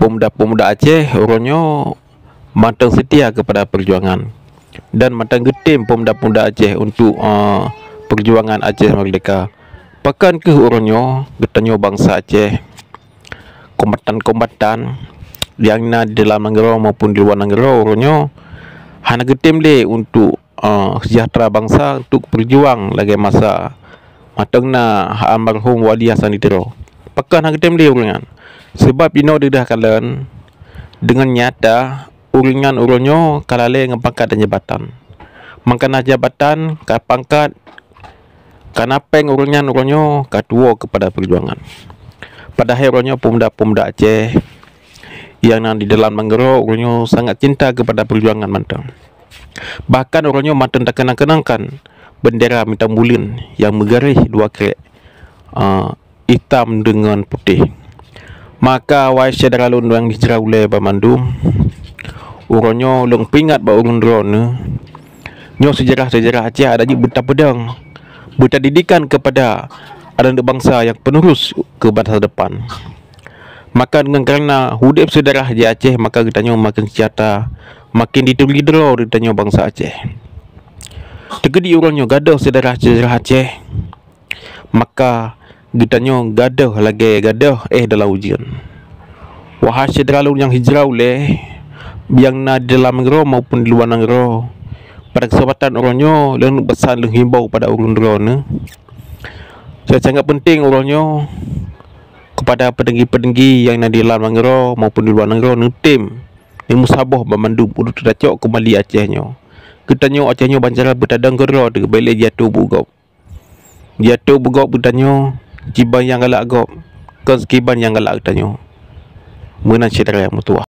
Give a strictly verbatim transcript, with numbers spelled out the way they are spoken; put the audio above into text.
pemuda-pemuda Aceh uroe nyoe mantong seutia keupada peujuangan dan mantong geutem pemuda-pemuda Aceh untuk, eh, peujuangan Aceh meurdehka. Pakon kheueh uroe nyoe geutanyoe bansa Aceh, kombatan-kombatan nyang na di dalam nanggroe maupun di luwa nanggroe uroe nyoe hana geutem lé untuk, eh, seujahteura bansa, untuk peujuang lagée masa mantong na almarhum Wali Hasan di Tiro. Pakon hana geutem lé ureuëng nyan? Sabab inoe deudah kalon deungon nyata ureuëng nyan uroe nyoe ka lalée ngon pangkat dan jabatan. Mangkana jabatan, ka pangkat, ka na péng ureuëng nyan uroe nyoe ka tuwoe keupada peujuangan. Padahai uroe nyoe pemuda-pemuda Aceh nyang na di dalam nanggroe uroe nyoe sangat cinta keupada peujuangan mantong. Bahkan uroe nyoe mantong takeunang-keunangkan bendera mita buleuen nyang meugaréh dua krek, ah, itam deungon putéh. Maka, wahai syedara lôn nyang hijrah ulée banmandum, uroe nyoe lôn peuingat bak ureuëng droeneuh, nyoe seujarah-seujarah Aceh adak jeuet beutapeudong, beutadidikan keupada aneuk bansa nyang penerus keu masa depan. Maka deungon kareuna udeb seujarah di Aceh, maka geutanyoe maken seujahteura, maken dituri droe di tanyoe bansa Aceh. Teukeudi uroe nyoe gadôh seujarah-seujarah Aceh, maka geutanyoe gadôh lagée gadôh éh dalam ujeuen. Wahai syedara lôn nyang hijrah ulée, nyang na di dalam nanggroe maupun di luwa nanggroe, pada keuseumpatan uroe nyoe lôn peusan lôn himbau keupada ureuëng droeneuh, sangat-sangat peunteng uroe nyoe keupada peutinggi-peutinggi nyang na di dalam nanggroe maupun di luwa nanggroe neutem, neumeusaboh banmandum untuk teucok keumbali Aceh nyoe. Geutanyoe Aceh nyoe bancara beutadong keudroe teuh, bék lé jiatoe beugob. Jiatoe beugob geutanyoe, kiban nyang galak gob, kon sikiban nyang galak geutanyoe. Meunan syedara meutuwah.